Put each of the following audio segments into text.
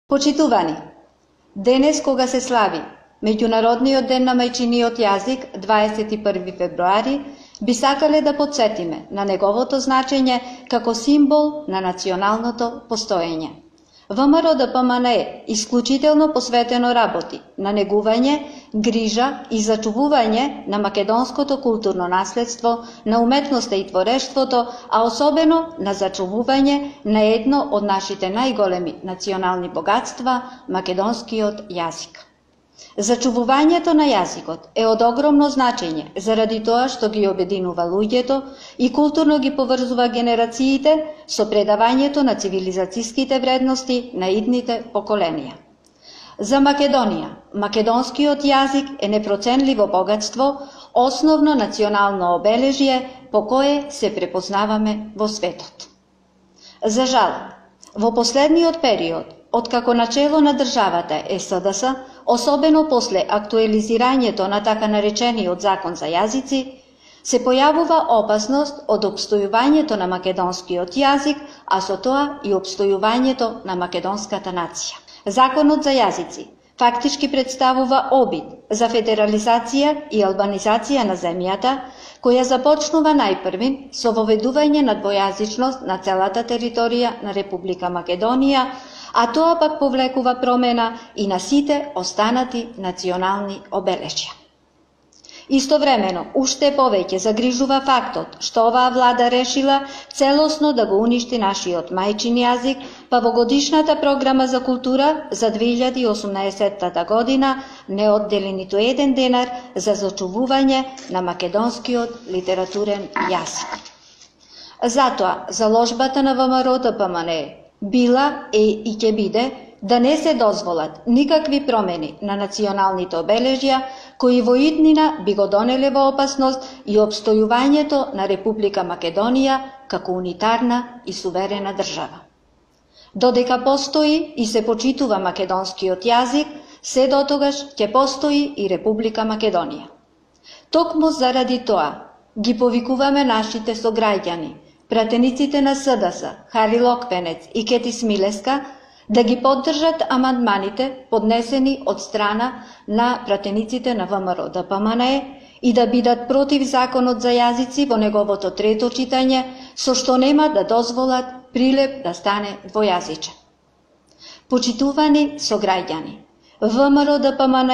Почитувани, денес кога се слави Меѓународниот ден на мајчиниот јазик, 21 февруари, би сакале да потсетиме на неговото значење како символ на националното постоење. ВМРО ДПМН е исклучително посветено работи на негување, грижа и зачувување на македонското културно наследство, на уметноста и творештвото, а особено на зачувување на едно од нашите најголеми национални богатства, македонскиот јазик. Зачувувањето на јазикот е од огромно значење заради тоа што ги обединува луѓето и културно ги поврзува генерациите со предавањето на цивилизацијските вредности на идните поколенија. За Македонија, македонскиот јазик е непроценливо богатство, основно национално обележје по кое се препознаваме во светот. За жал, во последниот период, откако начело на државата е СДС, особено после актуализирањето на така наречениот закон за јазици, се појавува опасност од опстојувањето на македонскиот јазик, а со тоа и опстојувањето на македонската нација. Законот за јазици фактички представува обид за федерализација и албанизација на земјата, која започнува најпрвин со воведување на двојазичност на целата територија на Република Македонија, а тоа пак повлекува промена и на сите останати национални обележја. Истовремено, уште повеќе загрижува фактот што оваа влада решила целосно да го уништи нашиот мајчин јазик, па во годишната програма за култура за 2018 година не оддели ниту еден денар за зачувување на македонскиот литературен јазик. Затоа, заложбата на ВМРО ДПМН била и ќе биде да не се дозволат никакви промени на националните обележја кои во иднина би го донеле во опасност и опстојувањето на Република Македонија како унитарна и суверена држава. Додека постои и се почитува македонскиот јазик, се дотогаш ќе постои и Република Македонија. Токму заради тоа ги повикуваме нашите сограѓани, пратениците на СДС, Хари Локвенец и Кети Смилеска, да ги поддржат амандманите поднесени од страна на пратениците на ВМРО ДПМН и да бидат против законот за јазици во неговото трето читање, со што нема да дозволат Прилеп да стане двојазичен. Почитувани сограѓани, ВМРО ДПМН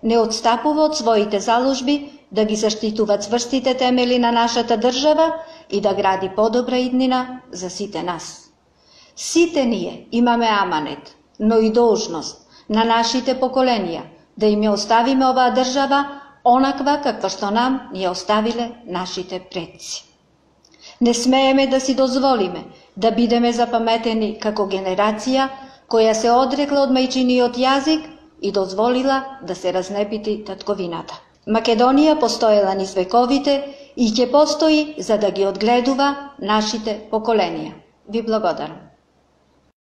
не отстапува од своите заложби да ги заштитува цврстите темели на нашата држава и да гради подобра иднина за сите нас. Сите ние имаме аманет, но и должност на нашите поколенија да им ја оставиме оваа држава онаква каква што нам ни ја оставиле нашите предци. Не смееме да си дозволиме да бидеме запаметени како генерација која се одрекла од мајчиниот јазик и дозволила да се разнепити татковината. Македонија постоела низ вековите и ќе постои за да ги одгледува нашите поколенија. Ви благодарам.